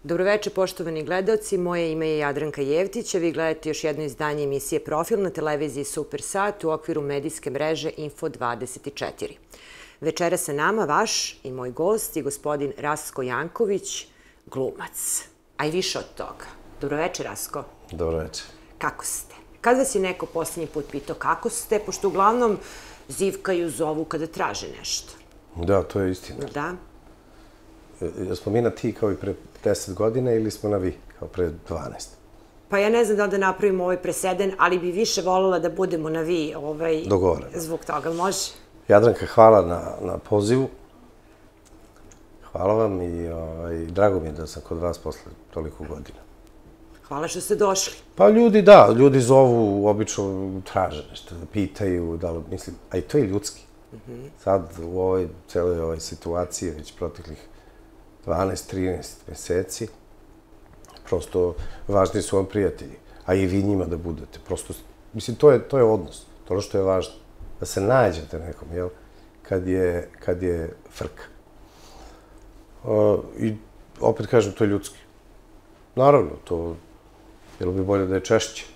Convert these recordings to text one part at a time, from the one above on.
Dobroveče, poštovani gledaoci. Moje ime je Jadranka Jevtić, a vi gledate još jedno izdanje emisije Profil na televiziji Supersat u okviru medijske mreže Info24. Večera sa nama vaš i moj gost je gospodin Rasko Janković, glumac. A i više od toga. Dobroveče, Rasko. Dobroveče. Kako ste? Kad vas je neko posljednji put pitao kako ste, pošto uglavnom zivkaju, zovu kada traže nešto? Da, to je istina. Da? Jesmo mi na ti kao i pre 10 godina ili smo na vi kao pre 12? Pa ja ne znam da li da napravimo ovaj preseden, ali bi više voljela da budemo na vi. Dogovoreno. Zbog toga, može? Jadranka, hvala na pozivu. Hvala vam i drago mi je da sam kod vas posle toliko godina. Hvala što ste došli. Pa ljudi zovu, obično traže nešto, pitaju, da li, mislim, a i to je ljudski. Sad u ovoj celoj ovoj situaciji, već proteklih 12-13 meseci, prosto važni su vam prijatelji, a i vi njima da budete. Prosto, mislim, to je odnos, to ono što je važno. Da se nađete nekom, jel, kad je frka. I opet kažem, to je ljudski. Naravno, to bilo bi bolje da je češće.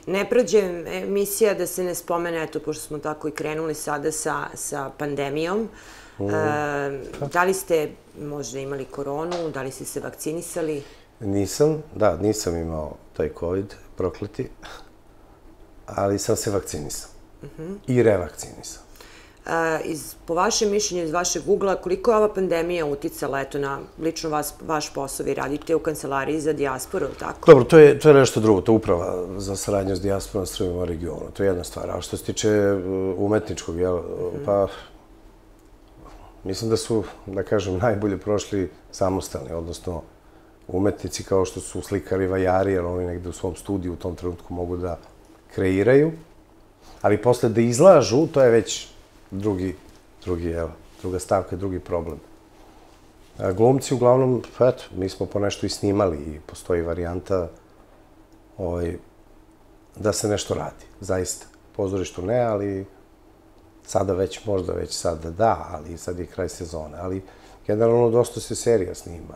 Ne prođe emisija da se ne spomene, eto, pošto smo tako i krenuli sada sa pandemijom. Da li ste možda imali koronu, da li ste se vakcinisali? Nisam imao taj COVID, prokleti, ali sam se vakcinisao i revakcinisao. Po vašem mišljenju, iz vašeg ugla, koliko je ova pandemija uticala, eto, na lično vaš posao? Vi radite u kancelariji za dijasporu, tako? Dobro, to je nešto drugo, to je uprava za saradnju s dijasporom Srbima u regionu, to je jedna stvar. A što se tiče umetničkog, pa mislim da su, da kažem, najbolje prošli samostalni, odnosno umetnici kao što su slikari, vajari, jer oni negde u svom studiju u tom trenutku mogu da kreiraju, ali posle da izlažu, to je već druga stavka, drugi problem. Glumci, uglavnom, eto, mi smo po nešto i snimali i postoji varijanta da se nešto radi, zaista. Pozorištu ne, ali sada već, možda već sada da, ali sad je kraj sezone. Ali generalno dosta se serija snima.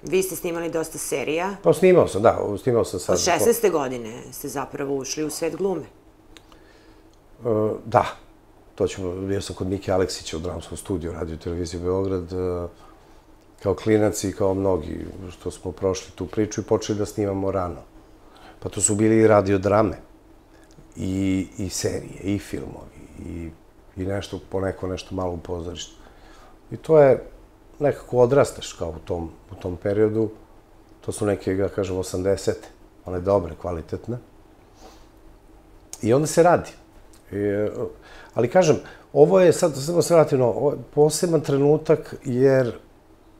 Vi ste snimali dosta serija. Pa snimao sam, da, snimao sam sad. Od 16. godine ste zapravo ušli u svet glume. Da, bio sam kod Mike Aleksića u dramskom studiju Radio Televizije Beograd kao klinac i kao mnogi što smo prošli tu priču i počeli da snimamo rano. Pa to su bili i radiodrame i serije i filmovi i nešto, poneko nešto malo u pozorištu. I to je nekako odrastaš kao u tom periodu. To su neke, da kažem, 80. One dobre, kvalitetne. I onda se radi. Ali kažem, ovo je, sad samo se vratim, poseban trenutak jer,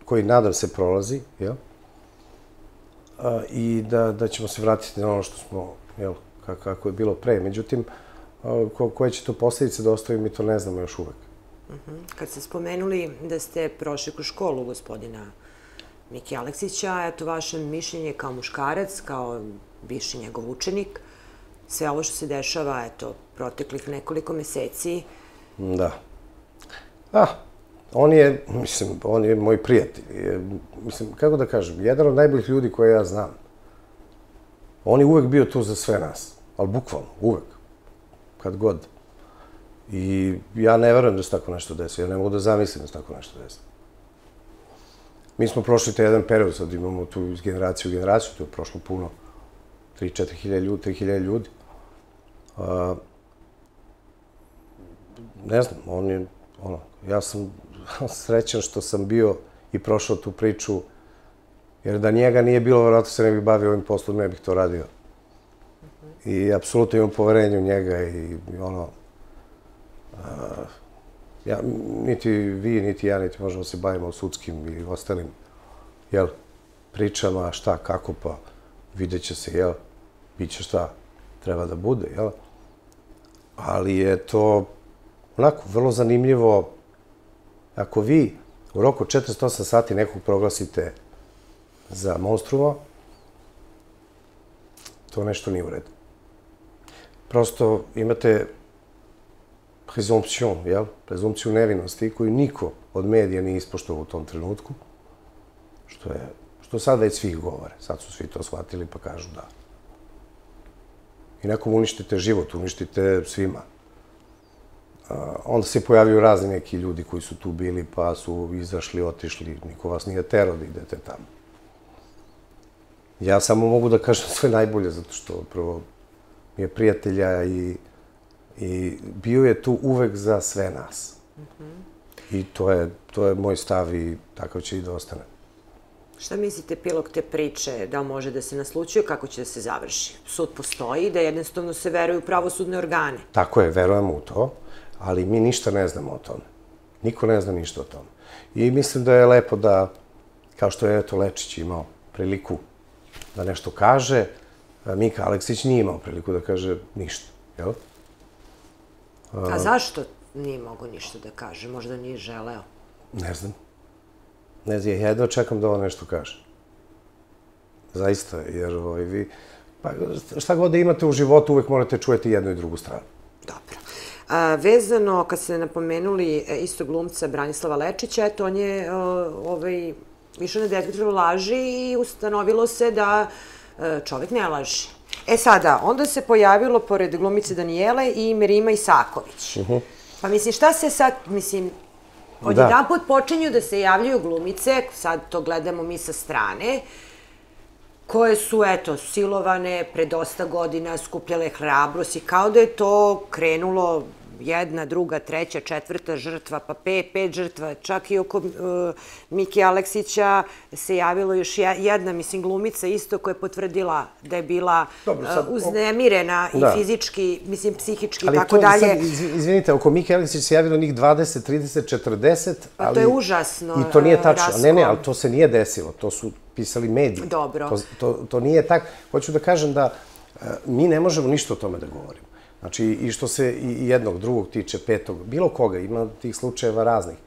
koji nadam se prolazi, jel? I da ćemo se vratiti na ono što smo, jel, kako je bilo pre. Međutim, koje će to posljedice da ostavi, mi to ne znamo još uvek. Kad ste spomenuli da ste prošli kroz školu gospodina Mike Aleksića, eto vaše mišljenje kao muškarac, kao bivši njegov učenik, sve ovo što se dešava, eto, proteklih nekoliko meseci. Da. On je moj prijatelj. Mislim, kako da kažem, jedan od najboljih ljudi koje ja znam. On je uvek bio tu za sve nas. Ali bukvalno, uvek. Kad god. I ja ne verujem da se tako nešto desi. Ja ne mogu da zamislim da se tako nešto desi. Mi smo prošli taj jedan period, sad imamo tu iz generacije u generaciju, tu je prošlo puno, 3-4 hiljade ljudi. Ne znam, ja sam srećan što sam bio i prošao tu priču, jer da njega nije bilo, vjerojatno se ne bih bavio ovim poslom, ne bih to radio. I apsolutno imam poverenje u njega i niti vi, niti ja, niti možemo se bavimo sudskim i ostalim, pričama, šta, kako, pa vidjet će se, bit će šta treba da bude, ali je to onako vrlo zanimljivo. Ako vi u roku 48 sati nekog proglasite za monstruma, to nešto nije u redu. Prosto imate prezumpciju nevinosti koju niko od medija nije ispoštovao u tom trenutku, što sad već svi govore. Sad su svi to shvatili pa kažu da. I nekom uništite život, uništite svima. Onda se pojavio razni neki ljudi koji su tu bili, pa su izašli, otišli. Niko vas nije terao da idete tamo. Ja samo mogu da kažem sve najbolje, zato što prvo mi je prijatelja i bio je tu uvek za sve nas. I to je moj stav i takav će i da ostane. Šta mislite, epilog te priče, da li može da se naslučuje, kako će da se završi? Sud postoji, da jednostavno se veruje u pravosudne organe. Tako je, verujemo u to, ali mi ništa ne znamo o tome. Niko ne zna ništa o tome. I mislim da je lepo da, kao što je eto Lečić imao priliku da nešto kaže, Mika Aleksić nije imao priliku da kaže ništa, jel? A zašto nije mogo ništa da kaže? Možda nije želeo? Ne znam. Ne znam, ja jedno čekam da ovo nešto kaže. Zaista, jer vi... Pa šta god da imate u životu, uvek morate čujeti jednu i drugu stranu. Dobro. Vezano, kad ste napomenuli isto glumca Branislava Lečića, eto, on je išao na detektor laži i ustanovilo se da čovek ne laže. E sada, onda se pojavilo pored glumice Danijele i Merima Isaković. Pa mislim, šta se sad, mislim, odjedan put počinju da se javljaju glumice, sad to gledamo mi sa strane, koje su, eto, silovane pre dosta godina, skupljale hrabrost i kao da je to krenulo jedna, druga, treća, četvrta žrtva, pa pet žrtva. Čak i oko Mike Aleksića se javilo još jedna, mislim, glumica isto koja je potvrdila da je bila uznemirena i fizički, mislim, psihički i tako dalje. Ali to sad, izvinite, oko Mike Aleksića se javilo njih 20, 30, 40, pa to je užasno. I to nije tačno. Ne, ali to se nije desilo. To su pisali mediji. Dobro. To nije tako. Hoću da kažem da mi ne možemo ništa o tome da govorimo. Znači, i što se i jednog, drugog tiče, petog, bilo koga, ima tih slučajeva raznih.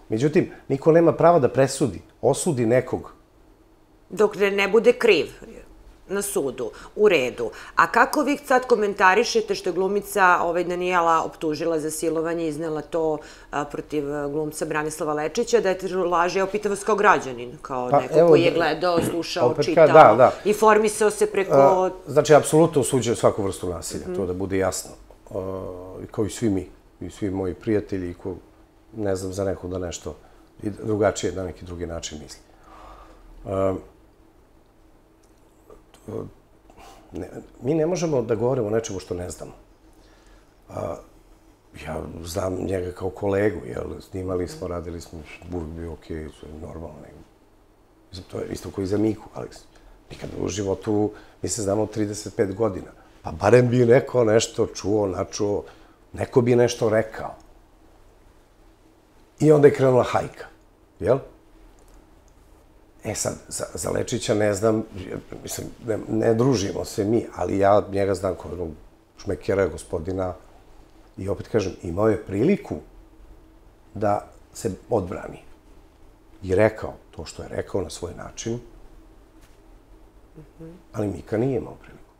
Međutim, niko nema prava da presudi, osudi nekog. Dok ne bude kriv na sudu, u redu. A kako vi sad komentarišete što je glumica Danijela optužila za silovanje, iznela to protiv glumca Branislava Lečića, da je laže, evo pitam vas kao građanin, kao neko koji je gledao, slušao, čitao, informisao se preko... Znači, apsolutno osuđujem svaku vrstu nasilja, to da bude jasno. Kao i svi mi, i svi moji prijatelji, ko ne znam za nekog da nešto drugačije, na neki drugi način misli. Mi ne možemo da govorimo o nečemu što ne znamo. Ja znam njega kao kolegu, snimali smo, radili smo, uvijek bio okej, normalno. To je isto koji za Miku, Aleksić. Nikad u životu, mi se znamo 35 godina. Pa barem bi neko nešto čuo, načuo, neko bi nešto rekao. I onda je krenula hajka, jel? E sad, za Lečića ne znam, mislim, ne družimo se mi, ali ja njega znam kao jednog šmekera, gospodina, i opet kažem, imao je priliku da se odbrani. I rekao to što je rekao na svoj način, ali Mika nije imao priliku.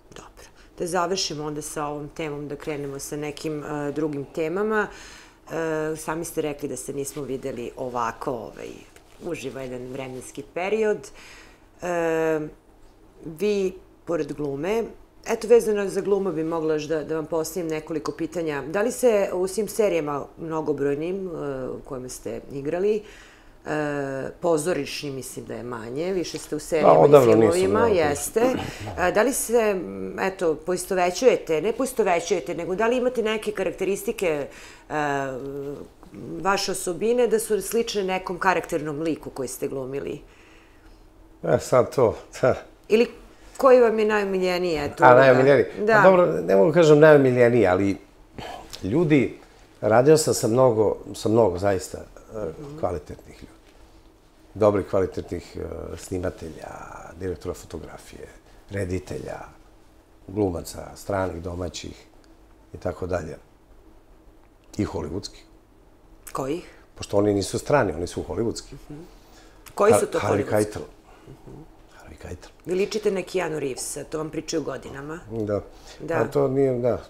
Dobro. Da završimo onda sa ovom temom, da krenemo sa nekim drugim temama. Sami ste rekli da se nismo videli ovako, uživa jedan vremenski period. Vi, pored glume, eto, vezano za glumu bi mogla još da vam postavim nekoliko pitanja. Da li se u svim serijama mnogobrojnim u kojima ste igrali, pozorišni mislim da je manje, više ste u serijama i filmovima, jeste. Da li se, eto, poistovećujete, ne poistovećujete, nego da li imate neke karakteristike vaše osobine da su slične nekom karakternom liku koji ste glumili? Sad to, Ili koji vam je najomiljeniji? Najomiljeniji? Dobro, ne mogu kažem najomiljeniji, ali ljudi, radio sam sa mnogo zaista kvalitetnih ljudi. Dobrih, kvalitetnih snimatelja, direktora fotografije, reditelja, glumaca, stranih, domaćih i tako dalje. I hollywoodskih. Kojih? Pošto oni nisu strani, oni su hollywoodski. Koji su to hollywoodski? Harvey Keitel. Vi ličite na Keanu Reevesa, to vam pričaju godinama. Da. A to nije, da.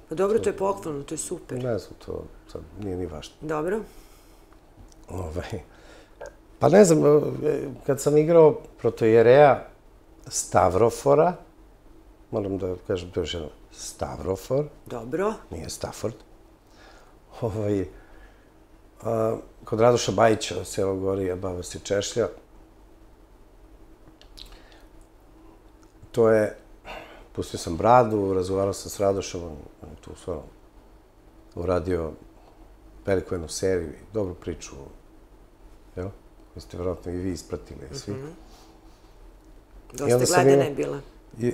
Pa dobro, to je pohvalno, to je super. Ne znam, to sad nije ni važno. Dobro. Pa ne znam, kad sam igrao protojereja Stavrofora, moram da kažem to još jedno, Stavrofor. Dobro. Nije Stafford. Kod Radoša Bajića, selo Gorija, baba se češlja. To je, pustio sam bradu, razgovarao sam s Radošom, on je tu stvarno uradio veliku jednu seriju i dobru priču, jel? Koju ste vjerojatno i vi ispratili, svi. Dosta gledana je bila.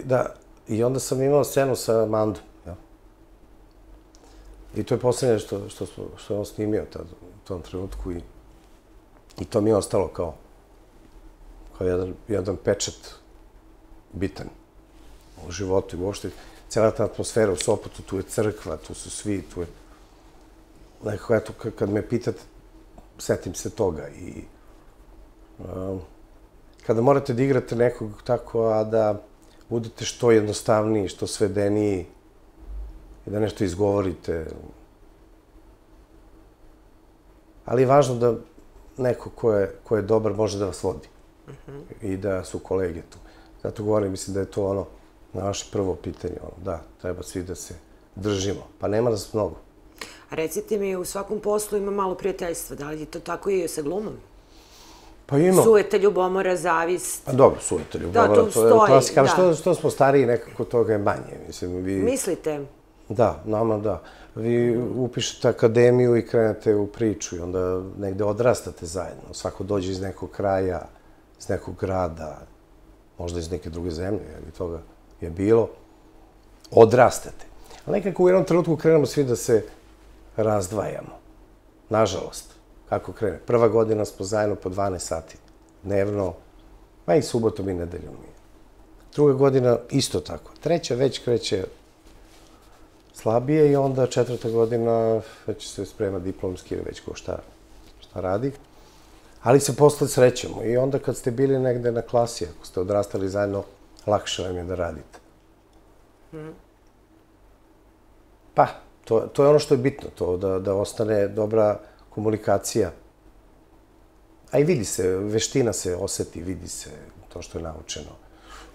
Da, i onda sam imao scenu sa Mandom, jel? I to je poslednje što je on snimio u tom trenutku i to mi je ostalo kao jedan pečat bitan u životu i uopšte cijela ta atmosfera u Sopotu, tu je crkva, tu su svi, tu je nekako, eto, kad me pitate, setim se toga i kada morate da igrate nekog tako, a da budete što jednostavniji, što svedeniji i da nešto izgovorite. Ali je važno da neko ko je dobar može da vas vodi i da su kolege tu. Zato govorim, mislim da je to ono naše prvo pitanje, da, treba svi da se držimo. Pa nema nas mnogo. A recite mi, u svakom poslu ima malo prijateljstva. Da li je to tako i sa glumom? Pa ima. Sujeta, ljubomora, zavist. Pa dobro, sujeta, ljubomora, to je klasika. Ali što smo stariji, nekako toga je manje. Mislite? Da, nama da. Vi upišete akademiju i krenete u priču i onda negde odrastate zajedno. Svako dođe iz nekog kraja, iz nekog grada, možda iz neke druge zemlje, jer toga je bilo. Odrastate. Ali nekako u jednom trenutku krenemo svi da se razdvajamo. Nažalost. Kako krene? Prva godina smo zajedno po 12 sati dnevno, pa i subotom i nedeljom. Druga godina isto tako. Treća već kreće slabije i onda četvrta godina već se sprema diplomski ili već ko šta radi. Ali se posle srećemo i onda kad ste bili negde na klasi, ako ste odrastali zajedno, lakše vam je da radite. Pa, to je ono što je bitno, to da ostane dobra komunikacija. A i vidi se, veština se oseti, vidi se to što je naučeno.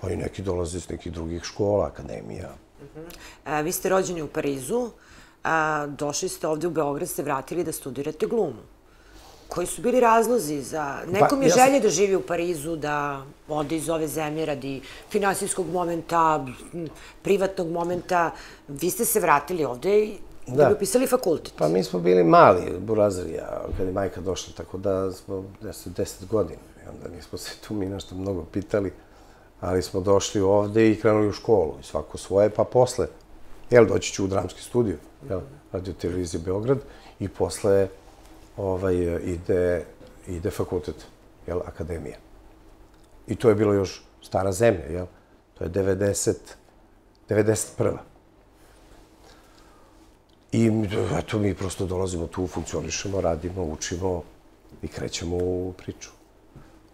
Oni neki dolaze iz nekih drugih škola, akademija. Vi ste rođeni u Parizu, došli ste ovde u Beograd, ste vratili da studirate glumu. Koji su bili razlozi za... Nekom je želje da živi u Parizu, da ode iz ove zemlje radi finansijskog momenta, privatnog momenta. Vi ste se vratili ovde i da bi upisali fakultet. Pa mi smo bili mali, burazerija, kad je majka došla, tako da smo 10 godina. I onda nismo se tu mi nešto mnogo pitali, ali smo došli ovde i krenuli u školu. I svako svoje, pa posle, doći ću u dramski studio, Radio Televizije Beograd, i posle ide fakultet, akademija. I to je bilo još stara zemlja, to je 91. I eto, mi prosto dolazimo tu, funkcionišemo, radimo, učimo i krećemo u priču.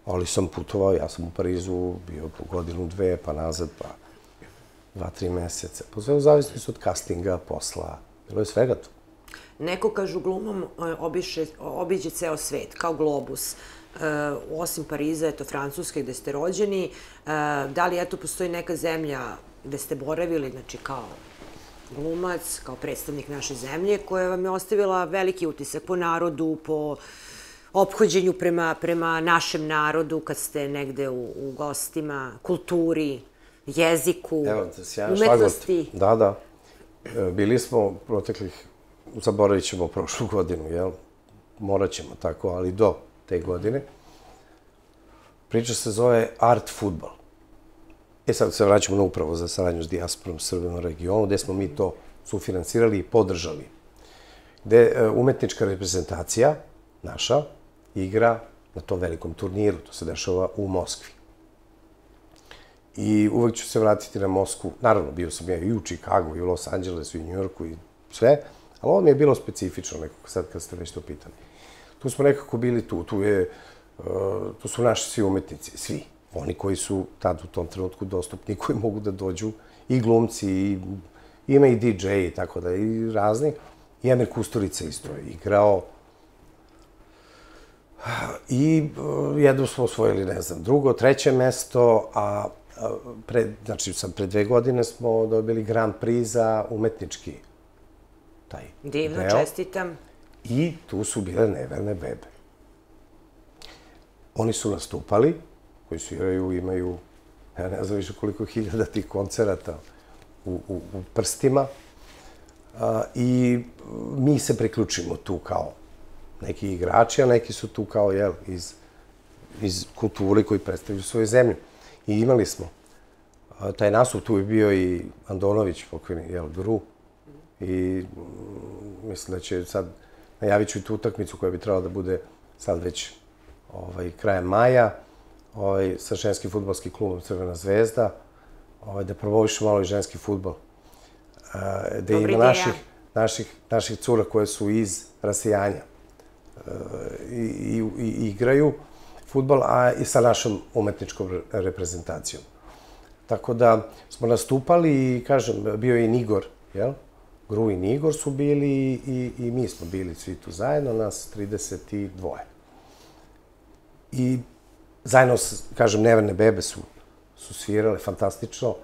Ali sam putovao, ja sam u Parizu bio po godinu, dve, pa nazad, pa 2-3 meseca. Pa sve u zavisnosti od castinga, posla, bilo je svega tu. Neko, kažu, glumom obiđe ceo svet, kao globus. Osim Pariza, eto, Francuske, gde ste rođeni. Da li, eto, postoji neka zemlja gde ste boravili, znači, kao glumac, kao predstavnik naše zemlje, koja vam je ostavila veliki utisak po narodu, po ophođenju prema našem narodu, kad ste negde u gostima, kulturi, jeziku, umetnosti? Da. Bili smo proteklih, zaboravit ćemo prošlu godinu, jel? Morat ćemo tako, ali do te godine. Priča se zove Art Futbol. Sad se vraćamo na Upravu za saradnju s dijasporom Srbima u regionu, gde smo mi to sufinansirali i podržali. Gde umetnička reprezentacija, naša, igra na tom velikom turniru. To se dešava u Moskvi. I uvek ću se vratiti na Moskvu. Naravno, bio sam ja i u Čikagu, i u Los Angelesu, i u Njujorku, i sve. Ali ovo mi je bilo specifično, nekako sad kad ste već to pitali. Tu smo nekako bili tu. Tu su naši svi umetnici, svi. Oni koji su tad u tom trenutku dostupni, koji mogu da dođu, i glumci, ima i DJ, i tako da, i razni. I Emir Kusturica isto je igrao. I jedno smo osvojili, ne znam, drugo, treće mesto, znači sad pre 2 godine smo dobili Grand Prix za umetnički taj deo. Divno, čestitam. I tu su bile Neverne bebe. Oni su nastupali, koji sviraju, imaju, ja ne znam više koliko hiljada tih koncerata u prstima. I mi se priključimo tu kao neki igrači, a neki su tu kao, jel, iz kulture koji predstavljaju svoju zemlju. I imali smo taj nastup, tu je bio i Andonović, pokojni, jel, Gru. I mislim da će sad, najavit ću i tu utakmicu koja bi trebala da bude sad već krajem maja, sa ženskim fudbalskim klubom Crvena zvezda, da promovišu malo i ženski fudbal. Da ima naših cura koje su iz rasijanja i igraju fudbal, a i sa našom umetničkom reprezentacijom. Tako da smo nastupali i, kažem, bio je i Nigor, jel? Gru i Nigor su bili i mi smo bili svi tu zajedno, nas 32. I zajedno, kažem, Neverne bebe su svirale fantastično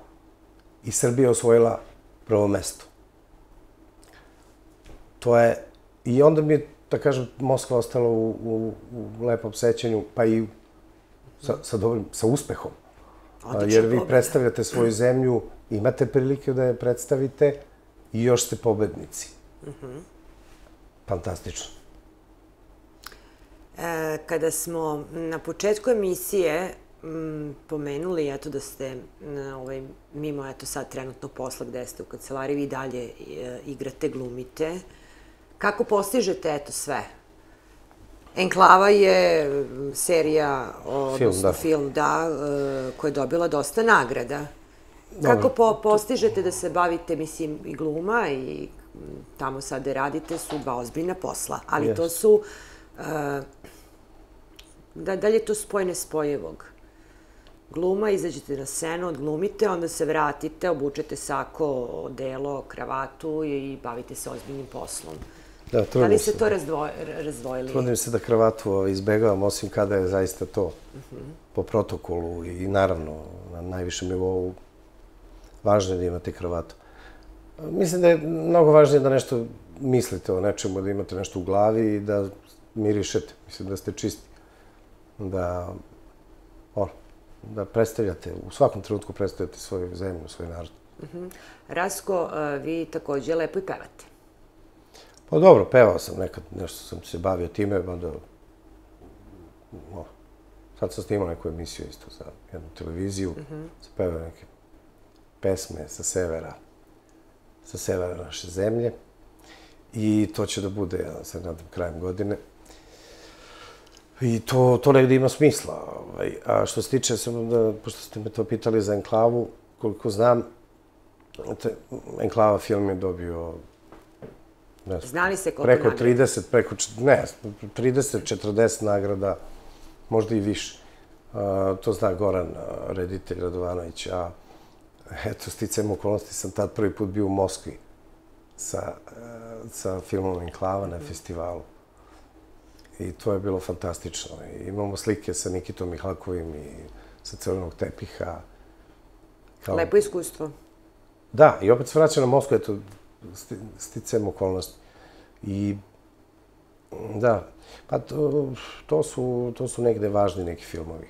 i Srbija osvojila prvo mesto. To je, i onda mi je, da kažem, Moskva ostala u lepom sećanju, pa i sa uspehom. Jer vi predstavljate svoju zemlju, imate prilike da je predstavite i još ste pobednici. Fantastično. Kada smo na početku emisije pomenuli, eto, da ste mimo, eto, sad trenutno posla gde ste u kancelariji, vi dalje igrate, glumite. Kako postižete, eto, sve? Enklava je serija, odnosno film, da, koja je dobila dosta nagrada. Kako postižete da se bavite, mislim, i gluma i tamo sada radite, su dva ozbiljna posla, ali to su, da li je to spoj nespojivog? Gluma, izađete na scenu, odglumite, onda se vratite, obučete sako, odelo, kravatu i bavite se ozbiljnim poslom. Da li ste to razdvojili? Trudim se da kravatu izbegavam, osim kada je zaista to po protokolu i naravno na najvišem nivou važno je da imate kravatu. Mislim da je mnogo važnije da nešto mislite o nečemu, da imate nešto u glavi i da mirišete. Mislim da ste čisti. Da predstavljate, u svakom trenutku predstavljate svoju zemlju, svoj narod. Rasko, vi takođe lepo i pevate. Pa dobro, pevao sam nekad, nešto sam se bavio time, onda sad sam snimao neku emisiju isto za jednu televiziju, sam pevao neke pesme sa severa naše zemlje i to će da bude, ja se nadam, krajem godine. I to negdje ima smisla. A što se tiče, pošto ste me to pitali za Enklavu, koliko znam, Enklava film je dobio preko 30-40 nagrada, možda i više. To zna Goran, reditelj Radovanović, a eto, sticajem okolnosti sam tad prvi put bio u Moskvi sa filmom Enklava na festivalu. I to je bilo fantastično. Imamo slike sa Nikitom Mihalkovim i sa Crvenog tepiha. Lepo iskustvo. Da, i opet se vraća na Moskvu, eto, sticajem okolnosti. I da, pa to su negde važni neki filmovi.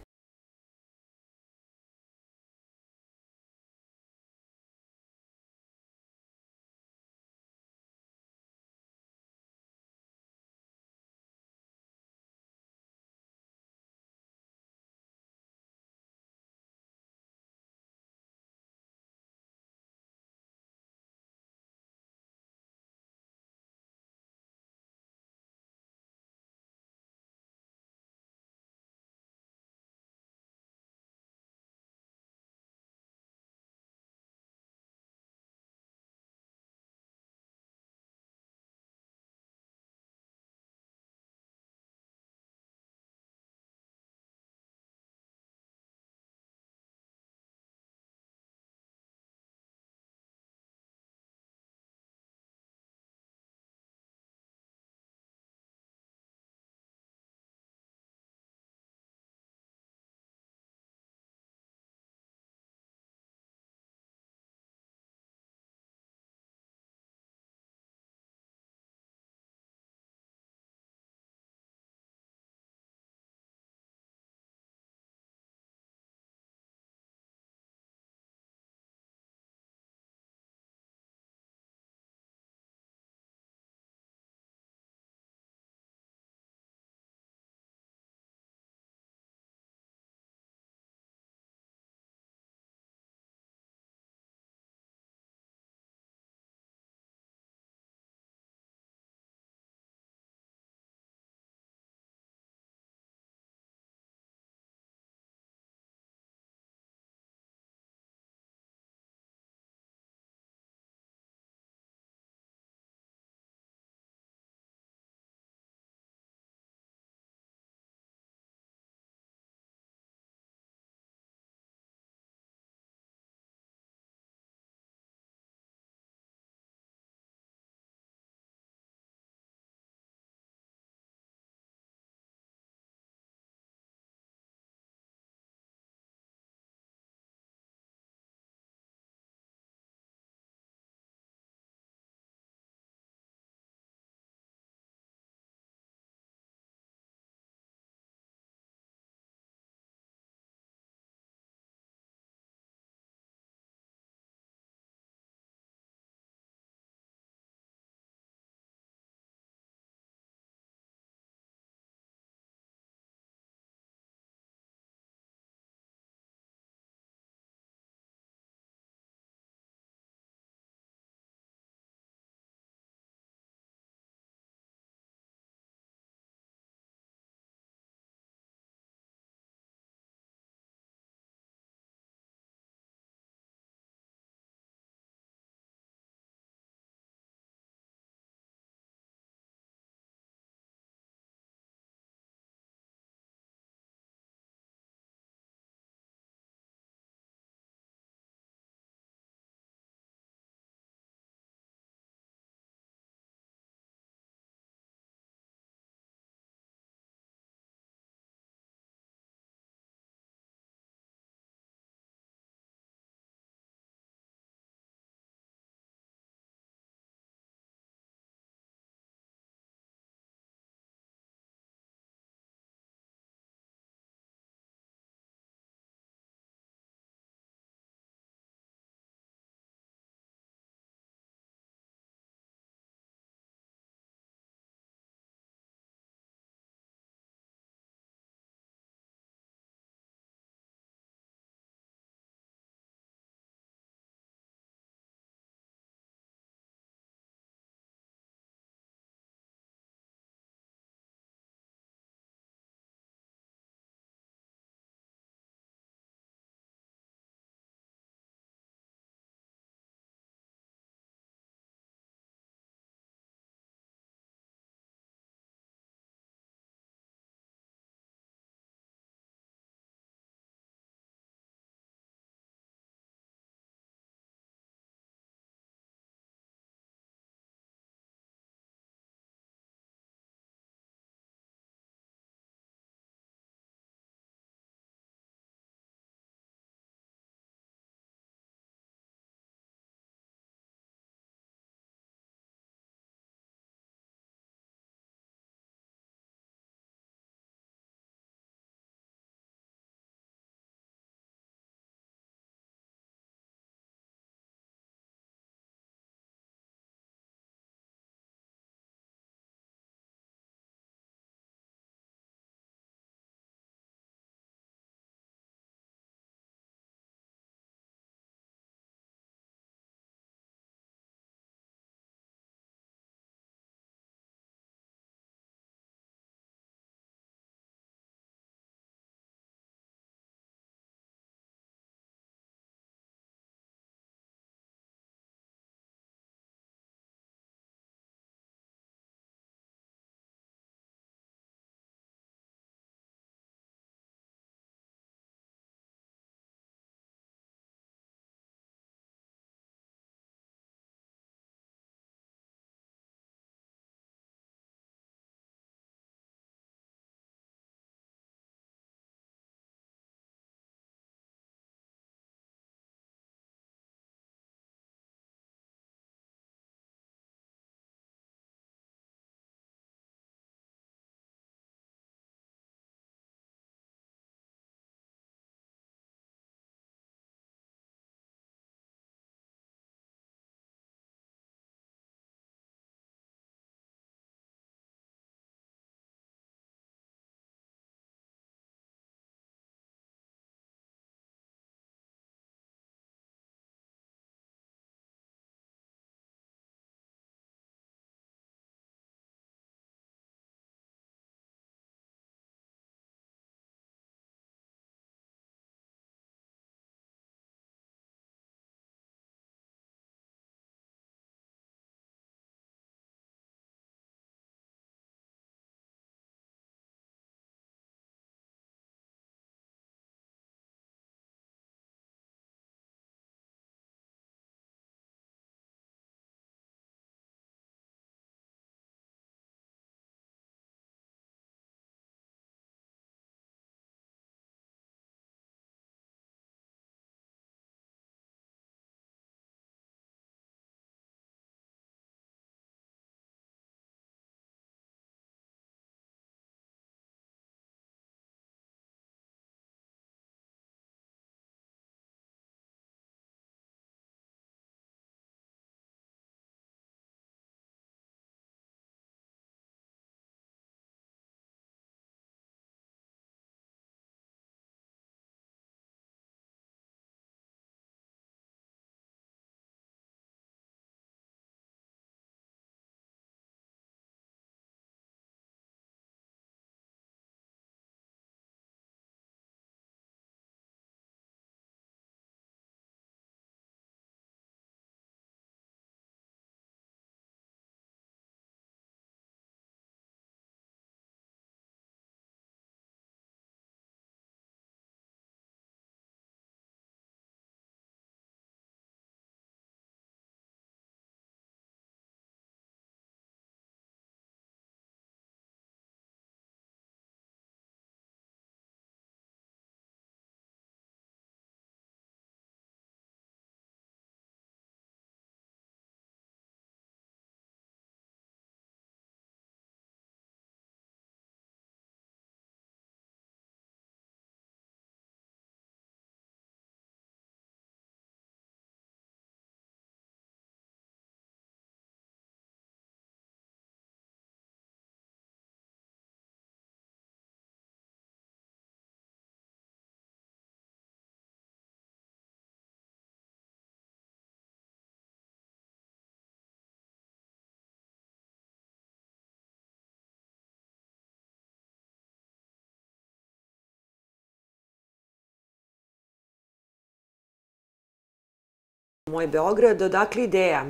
Moj Beograd, odakle ideja?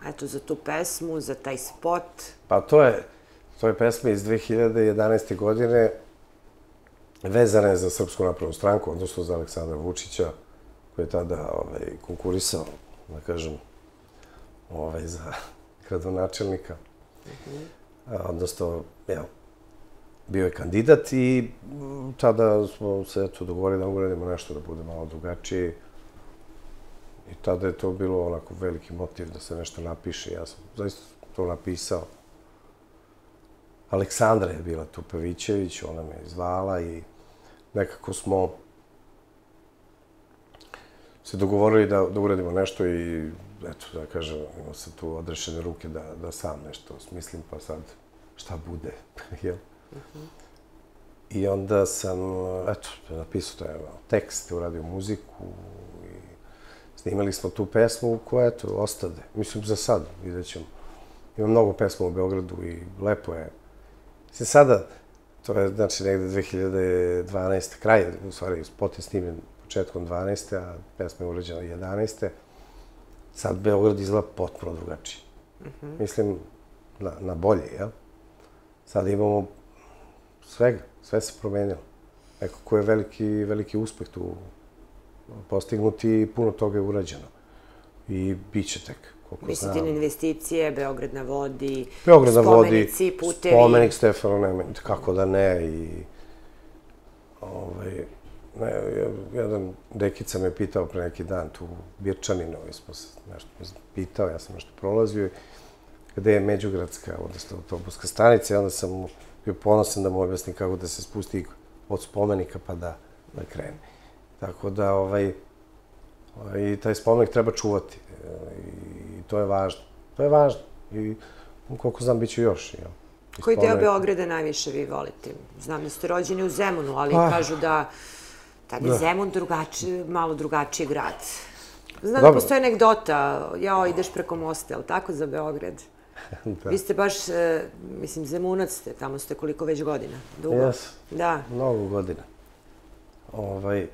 Eto, za tu pesmu, za taj spot. Pa to je pesma iz 2011. godine, vezana je za Srpsku naprednu stranku, odnosno za Aleksandra Vučića, koji je tada konkurisao, da kažem, za gradonačelnika. Odnosno, bio je kandidat i tada smo se dogovorili da uradimo nešto da bude malo drugačije. I tada je to bilo onako veliki motiv da se nešto napiše. Ja sam zaista to napisao. Aleksandra je bila tu Pavićević, ona me je zvala i nekako smo se dogovorili da uradimo nešto i eto, da kažem, imao sam tu odrešene ruke da sam nešto smislim, pa sad šta bude, jel? I onda sam, eto, napisao taj tekst, uradio muziku i snimali smo tu pesmu koja, eto, ostade. Mislim, za sad, vidjet ćemo. Ima mnogo pesma u Beogradu i lepo je. Mislim, sada, to je, znači, negde 2012. kraj, u stvari, spot je snimljen početkom 12. a pesma je urađena 11. Sad Beograd izgleda potpuno drugačije. Mislim, na bolje, jel? Sad imamo svega, sve se promenilo. Nekako je veliki uspeh tu postignuti i puno toga je urađeno. I bit će tek, koliko znam. Mislite na investicije, Beograd na vodi, spomenici, putevi. Spomenik Stefanu Nemanji, kako da ne. I jedan dekica me pitao pre neki dan tu u Birčaninu, smo se nešto pitao, ja sam nešto prolazio, gde je Međugradska, odnosno autobuska stanica, i onda sam bio ponosan da mu objasnim kako da se spusti od spomenika pa da krene. Tako da i taj spomenik treba čuvati i to je važno. To je važno i koliko znam bit ću još. Koji deo Beograda najviše vi volite? Znam da ste rođeni u Zemunu, ali kažu da tad je Zemun malo drugačiji grad. Znam da postoje anegdota, jao, ideš preko mosta, je li tako za Beograd? Vi ste baš, mislim, Zemunac ste, tamo ste koliko već godina? Dugo? Jes, mnogo godina.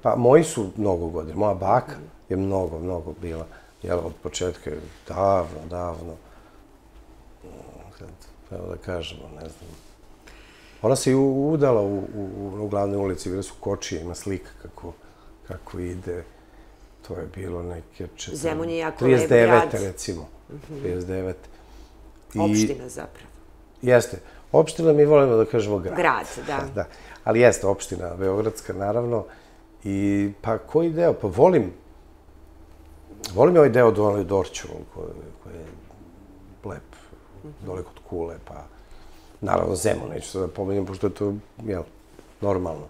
Pa moji su mnogo godina, moja baka je mnogo bila, jel, od početka, davno, evo da kažemo, ne znam. Ona se i udala u glavnoj ulici, bile su kočije, ima slika kako ide. To je bilo neke 39. recimo. 39. Opština zapravo. Jeste. Opština mi volimo da kažemo grad. Grad, da. Ali jeste opština Beogradska, naravno. I pa koji deo? Pa volim ovaj deo dole u Dorću, koji je lep, dole kod Kule, pa naravno Zemun, neću sad da pomenem, pošto je to, jel, normalno.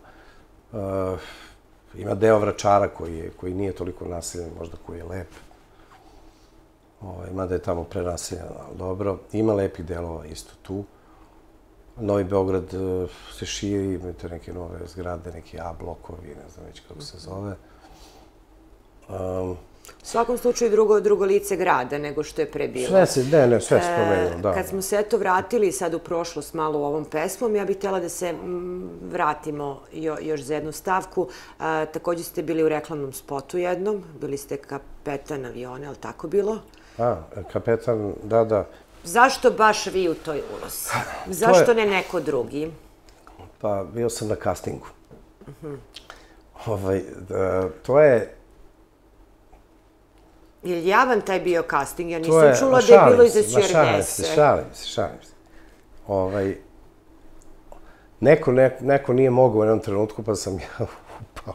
Ima deo Vračara koji nije toliko naseljen, možda koji je lep. Mada je tamo prenaseljeno, ali dobro. Ima lepih delova isto tu. Novi Beograd se širi, imate neke nove zgrade, neki A blokovi, ne znam već kako se zove. U svakom slučaju drugo lice grada nego što je pre bilo. Sve se promenilo, da. Kad smo se eto vratili sad u prošlost malo u ovom pesmom, ja bih htjela da se vratimo još za jednu stavku. Također ste bili u reklamnom spotu jednom, bili ste kapetan aviona, je li tako bilo? Kapetan, da. Zašto baš vi u toj ulozi? Zašto ne neko drugi? Pa, bio sam na castingu. To je... Je li javan taj bio casting? Ja nisam čula da je bilo iza stjuardese. Šalim se. Neko nije mogao u jednom trenutku, pa sam ja upao.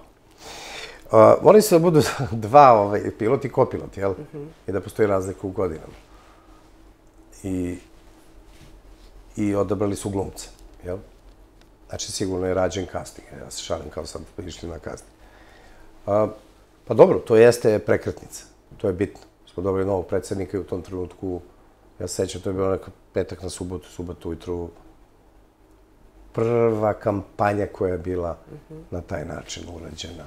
Morali su da budu dva pilot i kopilot, jel? I da postoji razlika u godinama. I odabrali su glumce, jel? Znači, sigurno je rađen casting. Ja se šalim kao sam išli na casting. Pa dobro, to jeste prekretnica. To je bitno. Smo dobili novog predsjednika i u tom trenutku, ja se sećam, to je bilo neka petak na subotu ujutru, prva kampanja koja je bila na taj način urađena.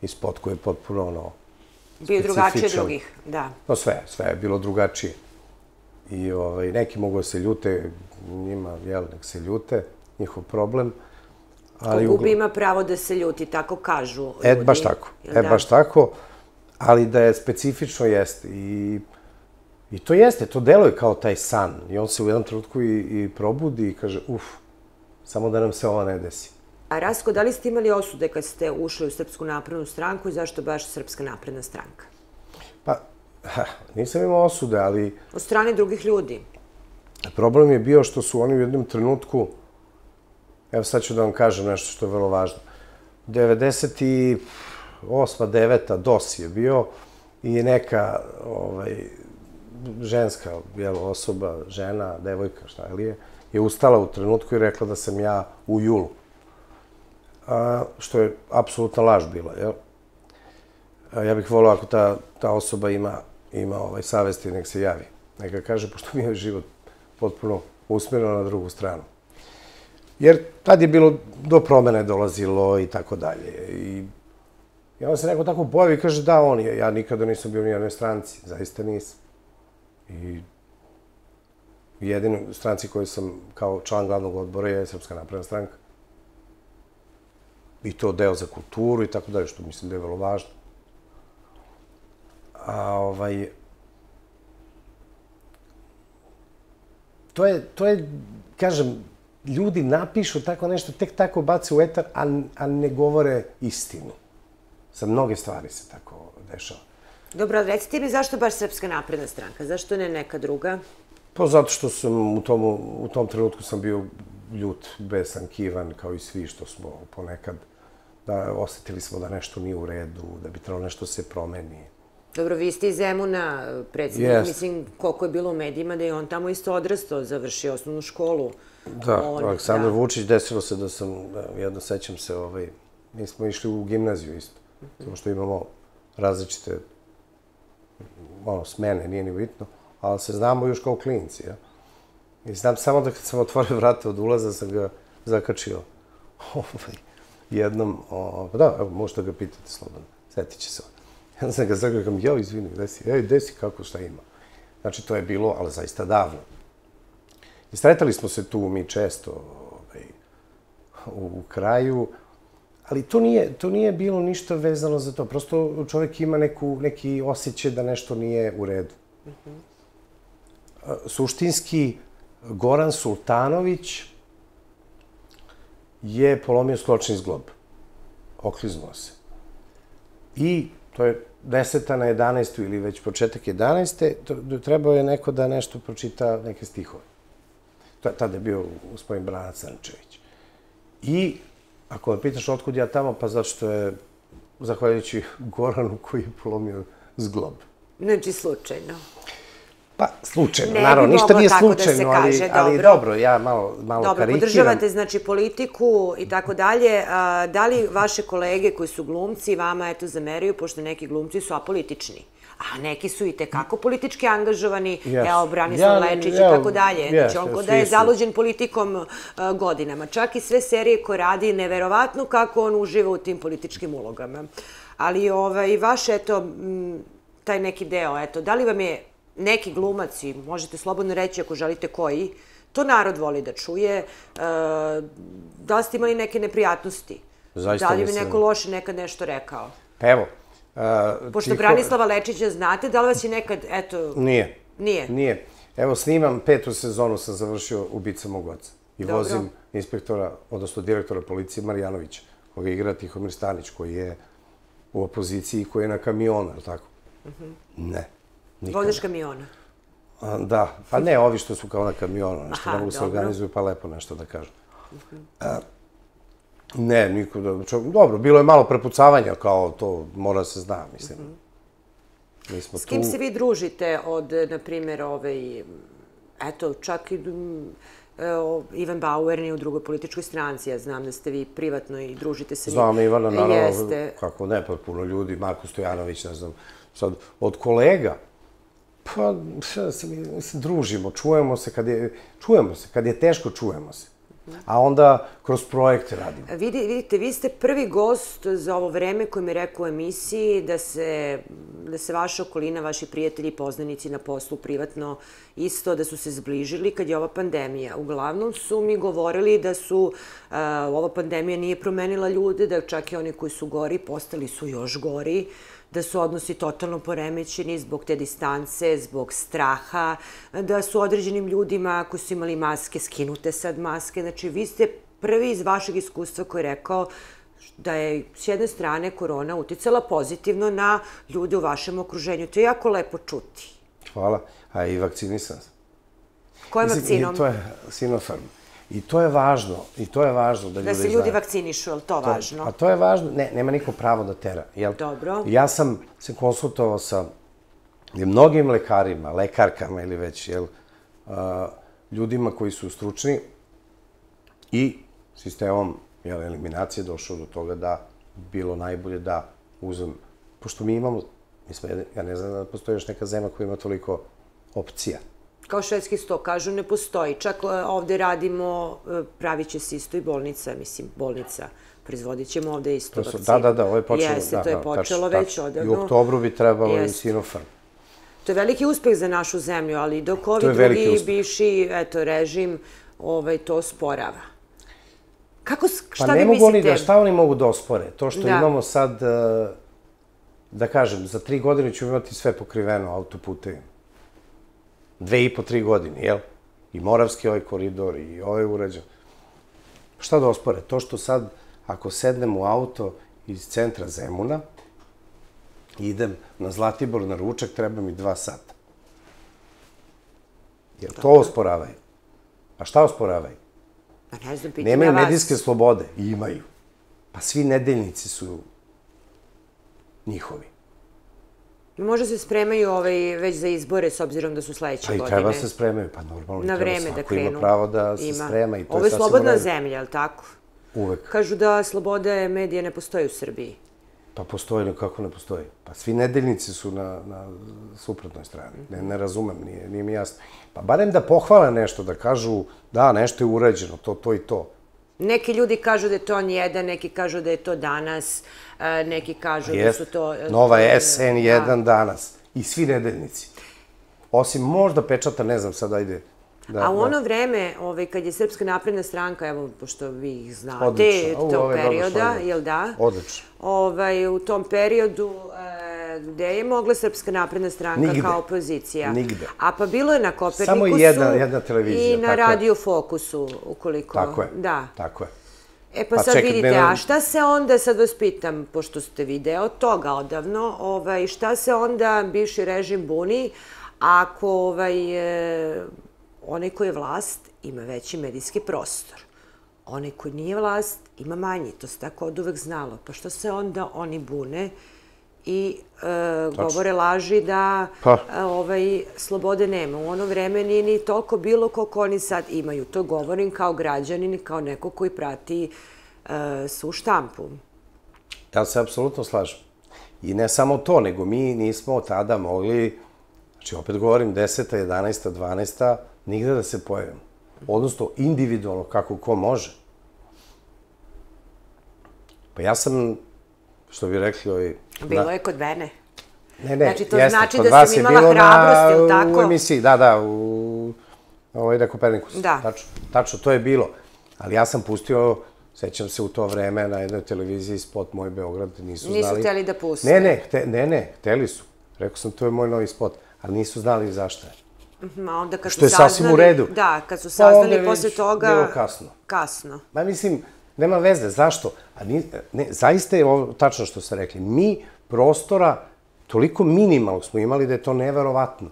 I spot koji je potpuno specifičan. Bio drugačije drugih, da. No sve je bilo drugačije. I neki mogu da se ljute, njima, jel, nek se ljute, njihov problem. Ko gubi ima pravo da se ljuti, tako kažu ljudi. Baš tako. Ali da je specifično jeste. I to jeste, to deluje kao taj san. I on se u jednom trenutku i probudi i kaže, samo da nam se ovo ne desi. A Rasko, da li ste imali osude kad ste ušli u Srpsku naprednu stranku i zašto baš Srpska napredna stranka? Pa, nisam imao osude, ali... Od strane drugih ljudi? Problem je bio što su oni u jednom trenutku, evo sad ću da vam kažem nešto što je vrlo važno, 98. 9. DOS je bio i neka ženska osoba, žena, devojka, šta li je ustala u trenutku i rekla da sam ja u julu. Što je apsolutna laž bila, jel? Ja bih volio ako ta osoba ima savesti, nek se javi. Neka kaže, pošto mi je život potpuno usmjereno na drugu stranu. Jer tad je bilo, do promene dolazilo i tako dalje. I onda se neko tako pojavi i kaže, da, on je. Ja nikada nisam bio u nijednoj stranci, zaista nisam. I jedinu stranci koju sam kao član glavnog odbora je Srpska napredna stranka. I to deo za kulturu i tako dalje, što mislim da je vrlo važno. To je, kažem, ljudi napišu tako nešto, tek tako bace u etar, a ne govore istinu. Sa mnoge stvari se tako dešava. Dobro, ali recite mi zašto baš Srpska napredna stranka? Zašto ne neka druga? Pa zato što sam u tom trenutku sam bio ljut, besan, kivan, kao i svi što smo ponekad osetili smo da nešto nije u redu, da bi trebalo nešto se promeni. Dobro, vi ste iz Zemuna, predsjednik, mislim, koliko je bilo u medijima da je on tamo isto odrastao, završio osnovnu školu. Da, Aleksandar Vučić, desilo se da sam, jedno sećam se, mi smo išli u gimnaziju isto, samo što imamo različite smene, nije ni bitno, ali se znamo još kao klinci. I znam samo da kad sam otvorio vrata od ulaza sam ga zakačio jednom, da, evo, možete ga pitati slobodno, setit će se on. Ja sam ga zakačio, jao, izvini, gde si, kako, šta ima. Znači, to je bilo, ali zaista davno. I sretali smo se tu mi često u kraju, ali to nije bilo ništa vezano za to. Prosto čovjek ima neki osjećaj da nešto nije u redu. Suštinski, Goran Sultanović je polomio skločni zglob. Okliznuo se. I to je 10. na 11. ili već početak 11. Trebao je neko da nešto pročita neke stihove. Tada je bio gospodin Branac Crnčević. I ako me pitaš otkud ja tamo, pa zato što je zahvaljujući Goranu koji je polomio zglob. Znači slučajno. Pa, slučajno, naravno, ništa nije slučajno, ali dobro, ja malo karikiram. Dobro, podržavate, znači, politiku i tako dalje. Da li vaše kolege koji su glumci vama, eto, zameraju, pošto neki glumci su apolitični, a neki su i tekako politički angažovani, evo, Branislav Lečić i tako dalje. Znači, on kod da je zaluđen politikom godinama. Čak i sve serije koje radi, neverovatno kako on uživa u tim političkim ulogama. Ali vaš, eto, taj neki deo, eto, da li vam je neki glumac, i možete slobodno reći ako želite koji, to narod voli da čuje, da li ste imali neke neprijatnosti? Da li bi neko loše nekad nešto rekao? Evo. Pošto Branislava Lečića znate, da li vas je nekad, eto... Nije. Nije? Nije. Evo, snimam 5. sezonu, sam završio Ubica mog oca. I vozim inspektora, odnosno direktora policije Marjanovića, koga igra Tihomir Stanić, koji je u opoziciji i koji je na kamionu, je li tako? Ne. Vozač kamiona? Da, pa ne ovi što su kao na kamionu, nešto ne mogu se organizuju pa lepo nešto da kažu. Ne, niko da... Dobro, bilo je malo prepucavanja kao to mora se zna, mislim. S kim se vi družite od, na primjer, eto, čak i Ivan Bauer nije u drugoj političkoj stranci, ja znam da ste vi privatno i družite se... Znam Ivana, naravno, kako ne, pa puno ljudi, Marko Stojanović, ne znam, sad, od kolega, pa, se družimo, čujemo se, kad je teško, čujemo se. A onda kroz projekte radimo. Vidite, vi ste prvi gost za ovo vreme koji mi je rekao u emisiji da se da se vaša okolina, vaši prijatelji, poznanici na poslu, privatno, isto da su se zbližili kad je ova pandemija. Uglavnom su mi govorili da su ova pandemija nije promenila ljude, da čak i oni koji su gori postali su još gori, da su odnosi totalno poremećeni zbog te distance, zbog straha, da su određenim ljudima koji su imali maske, skinute sad maske. Znači, vi ste prvi iz vašeg iskustva koji je rekao da je s jedne strane korona uticala pozitivno na ljude u vašem okruženju. To je jako lepo čuti. Hvala. A i vakcinisan sam. Kojom vakcinom? To je Sinopharm. I to je važno. I to je važno da ljudi znaju. Da se ljudi vakcinišu, je li to važno? A to je važno. Ne, nema niko pravo da tera. Dobro. Ja sam se konsultovao sa mnogim lekarima, lekarkama ili već, ljudima koji su stručni i sistemom eliminacije došao do toga da bilo najbolje da uzem, pošto mi imamo, ja ne znam da postoji još neka zemlja koja ima toliko opcija. Kao švedski sto, kažu, ne postoji. Čak ovde radimo, pravit će se isto i bolnica, mislim, bolnica. Proizvodit ćemo ovde isto vakcinu. Da, ovo je počelo. Jeste, to je počelo već odavno. I u oktobru bi trebalo i Sinopharm. To je veliki uspeh za našu zemlju, ali dok ovi drugi bivši režim to sporava. Pa ne mogu oni da, šta oni mogu da ospore? To što imamo sad, da kažem, za 3 godine ćemo imati sve pokriveno autoputevima. 2,5, 3 godine, jel? I Moravski ovaj koridor i ovaj urađen. Šta da ospore? To što sad, ako sednem u auto iz centra Zemuna, idem na Zlatibor na ručak, treba mi 2 sata. Jel to osporavaju? A šta osporavaju? Nemaju medijske slobode? Imaju. Pa svi nedeljnici su njihovi. Možda se spremaju već za izbore, s obzirom da su sledeće godine. Pa i treba se spremaju, pa normalno. Na vreme da krenu. Svako ima pravo da se sprema i to je sasvim u redu. Ovo je slobodna zemlja, je li tako? Uvek. Kažu da slobode medija ne postoji u Srbiji. Pa postoji, kako ne postoji? Pa svi nedeljnici su na suprotnoj strani. Ne razumem, nije mi jasno. Pa barem da pohvale nešto, da kažu da, nešto je urađeno, to i to. Neki ljudi kažu da je to N1, neki kažu da je to Danas, neki kažu da su to... Nova SN1 Danas. I svi nedeljnici. Osim možda pečata, ne znam, sad ajde... A u ono vreme, kad je Srpska napredna stranka, evo, pošto vi ih znate, tog perioda, jel da? Odlično. U tom periodu, gde je mogla Srpska napredna stranka kao opozicija? Nigde. A pa bilo je na Kopernikusu... Samo jedna televizija. I na Radio Fokusu, ukoliko... Tako je. Da. Tako je. E pa sad vidite, a šta se onda, sad vas pitam, pošto ste video toga odavno, šta se onda bivši režim buni ako onaj ko je vlast ima veći medijski prostor. Onaj ko nije vlast ima manji, to se tako od uvek znalo. Pa što se onda oni bune i govore laži da slobode nema. U ono vreme nije ni toliko bilo koliko oni sad imaju. To govorim kao građanin i kao neko koji prati svu štampu. Ja se apsolutno slažem. I ne samo to, nego mi nismo tada mogli, znači opet govorim 10. 11. 12. nigde da se pojavimo. Odnosno, individualno, kako ko može. Pa ja sam, što bi rekli... Bilo je kod mene. Ne, znači, to znači da sam imala hrabrost, ili tako? U emisiji, da, na Kopernikusu. Da. Tačno, to je bilo. Ali ja sam pustio, sećam se u to vreme, na jednoj televiziji spot Moj Beograd, nisu znali... Nisu hteli da puste. Ne, hteli su. Rekao sam, to je moj novi spot, ali nisu znali zašto je. Što je sasvim u redu. Da, kad su saznali posle toga... Bilo kasno. Kasno. Ma mislim, nema veze, zašto? Zaista je ovo tačno što ste rekli. Mi prostora toliko minimalnog smo imali da je to neverovatno.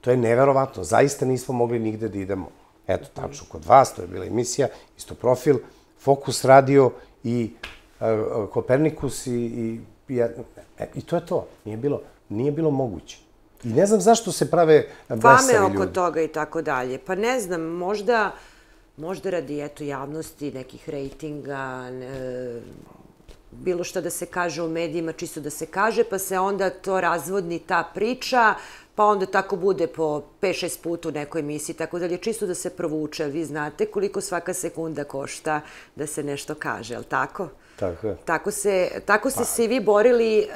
To je neverovatno. Zaista nismo mogli nigde da idemo. Eto, tačno kod vas, to je bila emisija, isto profil, Fokus radio i Kopernikus i to je to. Nije bilo moguće. I ne znam zašto se prave blesavi ljudi. Fame oko toga i tako dalje. Pa ne znam, možda radi javnosti, nekih rejtinga, bilo što da se kaže u medijima, čisto da se kaže, pa se onda to razvodni ta priča, pa onda tako bude po 5-6 puta u nekoj emisiji, tako dalje, čisto da se provuče. Vi znate koliko svaka sekunda košta da se nešto kaže, je li tako? Tako je. Tako ste se i vi borili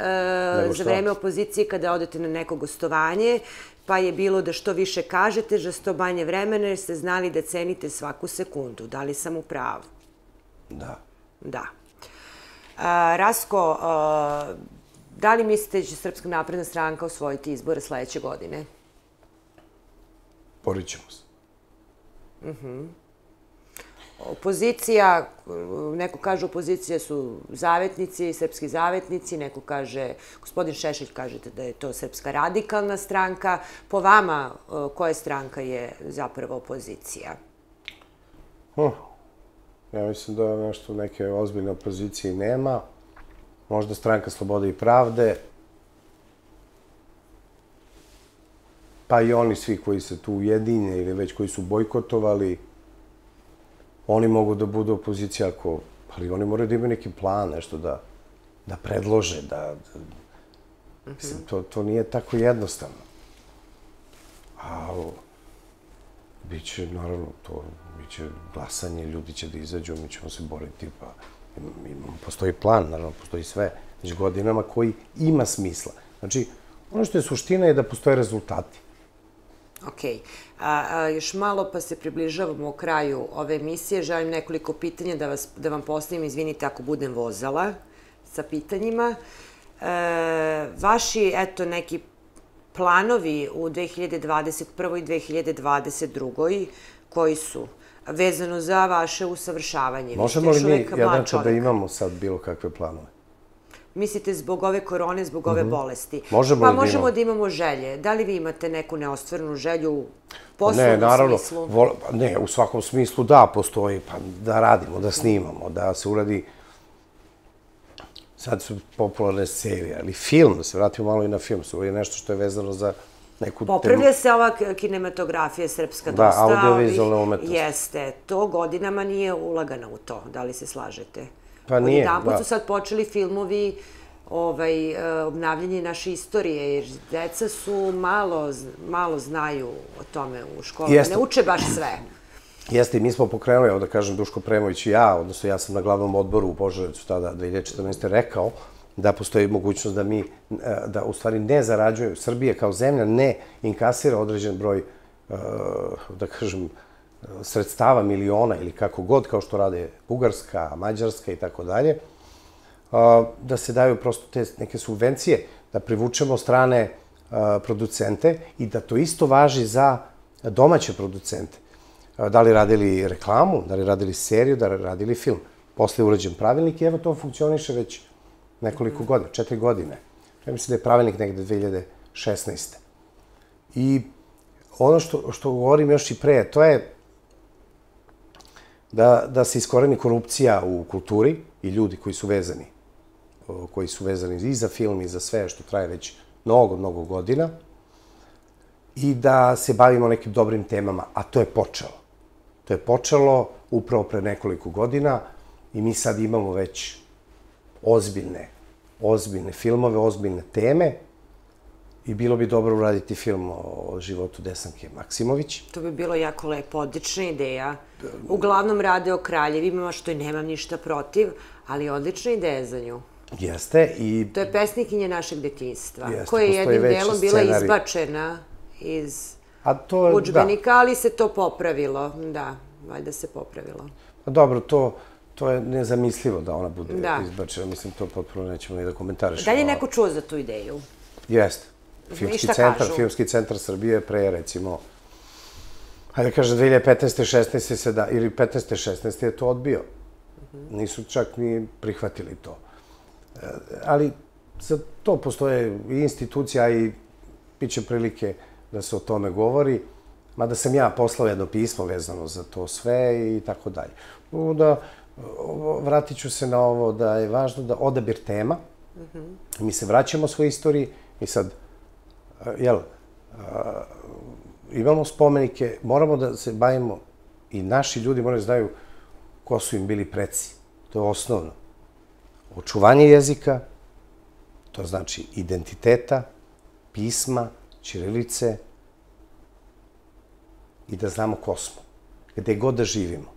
za vreme opozicije kada odete na neko gostovanje, pa je bilo da što više kažete, za što manje vremena, jer ste znali da cenite svaku sekundu. Da li sam u pravu? Da. Da. Rasko, da li mislite da će Srpska napredna stranka osvojiti izbore sledeće godine? Borit ćemo se. Opozicija, neko kaže opozicija su zavetnici, srpski zavetnici, neko kaže, gospodin Šešelj kažete da je to Srpska radikalna stranka. Po vama, koja stranka je zapravo opozicija? Ja mislim da nešto neke ozbiljne opozicije nema. Možda Stranka slobode i pravde. Pa i oni svi koji se tu ujedinje ili već koji su bojkotovali, oni mogu da budu opozicija ali oni moraju da imaju neki plan, nešto da predlože, mislim, to nije tako jednostavno. A biće, naravno, biće glasanje, ljudi će da izađu, mi ćemo se boriti, pa postoji plan, naravno, postoji sve, već godinama koji ima smisla. Znači, ono što je suština je da postoje rezultati. Okej. Još malo pa se približavamo kraju ove emisije. Želim nekoliko pitanja da vam postavim, izvinite ako budem vozala sa pitanjima. Vaši, eto, neki planovi u 2021. i 2022. koji su vezano za vaše usavršavanje? Možemo li mi, Jadranka, da imamo sad bilo kakve planove? Mislite zbog ove korone, zbog ove bolesti? Možemo Pa možemo da imamo želje. Da li vi imate neku neostvarenu želju u poslovnom smislu? Ne, naravno. Ne, u svakom smislu da, postoji. Pa da radimo, da snimamo, da se uradi. Sad su popularne serije, ali film, da se vratimo malo i na film, su uradi nešto što je vezano za neku... Popravlja se ova kinematografija srpska dosta. Da, audiovizualna umetnost. Jeste. To godinama nije ulagano u to. Da li se slažete? Pa nije, da. Odjedanput su sad počeli filmovi obnavljanje naše istorije, jer deca su malo znaju o tome u školi. Ne uče baš sve. Jeste, i mi smo pokrenuli, evo da kažem, Duško Premović i ja, odnosno ja sam na glavnom odboru u Požarevcu tada 2014. rekao da postoji mogućnost da u stvari ne zarađuju, Srbije kao zemlja ne inkasira određen broj, da kažem, sredstava, miliona ili kako god, kao što rade Bugarska, Mađarska i tako dalje, da se daju prosto te neke subvencije, da privučemo strane producente i da to isto važi za domaće producente. Da li radili reklamu, da li radili seriju, da li radili film. Posle je urađen pravilnik i evo to funkcioniše već nekoliko godina, 4 godine. Ja mislim da je pravilnik negde 2016. I ono što govorim još i pre, to je da se iskoreni korupcija u kulturi i ljudi koji su vezani i za film i za sve što traje već mnogo godina i da se bavimo nekim dobrim temama, a to je počelo. To je počelo upravo pre nekoliko godina i mi sad imamo već ozbiljne filmove, ozbiljne teme i bilo bi dobro uraditi film o životu Desanke Maksimović. To bi bilo jako lepo, odlična ideja. Uglavnom rade o kraljevima, što i nemam ništa protiv, ali odlična ideja za nju. Jeste i... To je pesnikinja našeg detinjstva, koja je jednim delom bila izbačena iz udžbenika, ali se to popravilo. Da, valjda se popravilo. Dobro, to je nezamislivo da ona bude izbačena. Mislim, to potpuno nećemo ni da komentarišemo. Da li je neko čuo za tu ideju? Jeste. Filmski centar Srbije pre, recimo, hajde da kažem, 2015. 16. ili 15. 16. je to odbio. Nisu čak ni prihvatili to. Ali za to postoje i institucija i bit će prilike da se o tome govori, mada sam ja poslao jedno pismo vezano za to sve i tako dalje. Vratit ću se na ovo da je važno da odabir tema, mi se vraćamo svojoj istoriji i sad, imamo spomenike, moramo da se bavimo i naši ljudi moraju da znaju ko su im bili preci. To je osnovno. Očuvanje jezika, to znači identiteta, pisma, ćirilice i da znamo ko smo, gde god da živimo.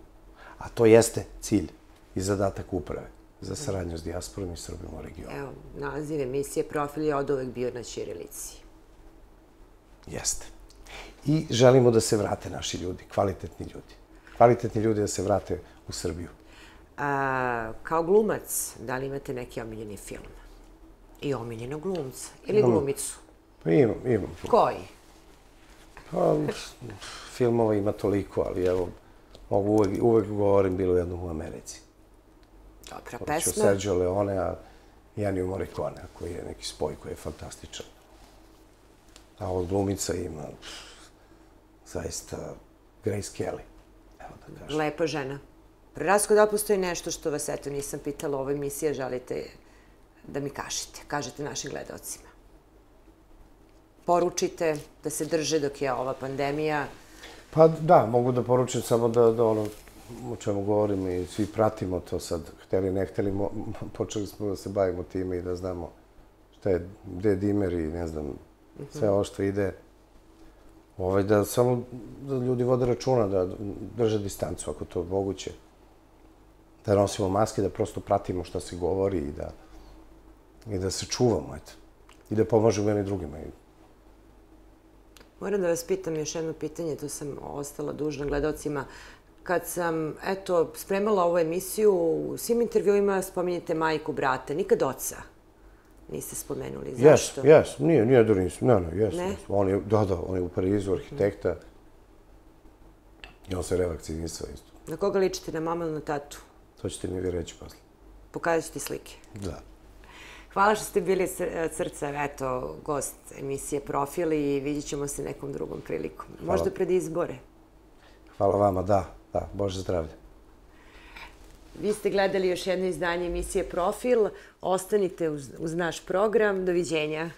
A to jeste cilj i zadatak uprave. za saradnju s dijasporom i Srbima u regionu. Evo, naziv emisije Profil je oduvek bio na ćirilici. Jeste. I želimo da se vrate naši ljudi, kvalitetni ljudi. Kvalitetni ljudi da se vrate u Srbiju. Kao glumac, da li imate neki omiljeni film? I omiljenog glumca? Ili glumicu? Pa imam. Koji? Pa, filmova ima toliko, ali evo, mogu uvek govorim bilo jednom u Americi. Dobra Hoću pesma. Sergio Leone, i Ennio Morricone, koji je neki spoj koji je fantastičan. A od glumica ima zaista Grace Kelly, evo da kažem. Lepa žena. Prerasko, da li postoji nešto što vas, eto, nisam pitala u ovoj emisiji, a želite da mi kažete našim gledalcima? Poručite da se drže dok je ova pandemija. Pa da, mogu da poručim samo da ono o čemu govorim i svi pratimo to sad, hteli ne hteli, počeli smo da se bavimo time i da znamo šta je, gde je dimer i ne znam, sve ovo što ide. Da samo da ljudi vode računa, da drže distancu ako to je moguće. Da nosimo maske, da prosto pratimo šta se govori i da se čuvamo, eto. I da pomažemo jedni drugima. Moram da vas pitam još jedno pitanje, to sam ostala dužna gledalcima. Kad sam, eto, spremala ovu emisiju, u svim intervjuima spominjete majku, brata, nikad oca niste spomenuli. Zašto? Jes, nije da nisam. Ne? Da, on je u Parizu, arhitekta. I on se revakcinisao isto. Na koga ličite, na mama ili na tatu? To ćete mi vi reći posle. Pokazat ću ti slike. Da. Hvala što ste bili srca, eto, gost emisije Profil i vidjet ćemo se nekom drugom prilikom. Možda pred izbore. Hvala vama, da, Bože zdravlje. Vi ste gledali još jedno izdanje emisije Profil. Ostanite uz naš program. Doviđenja.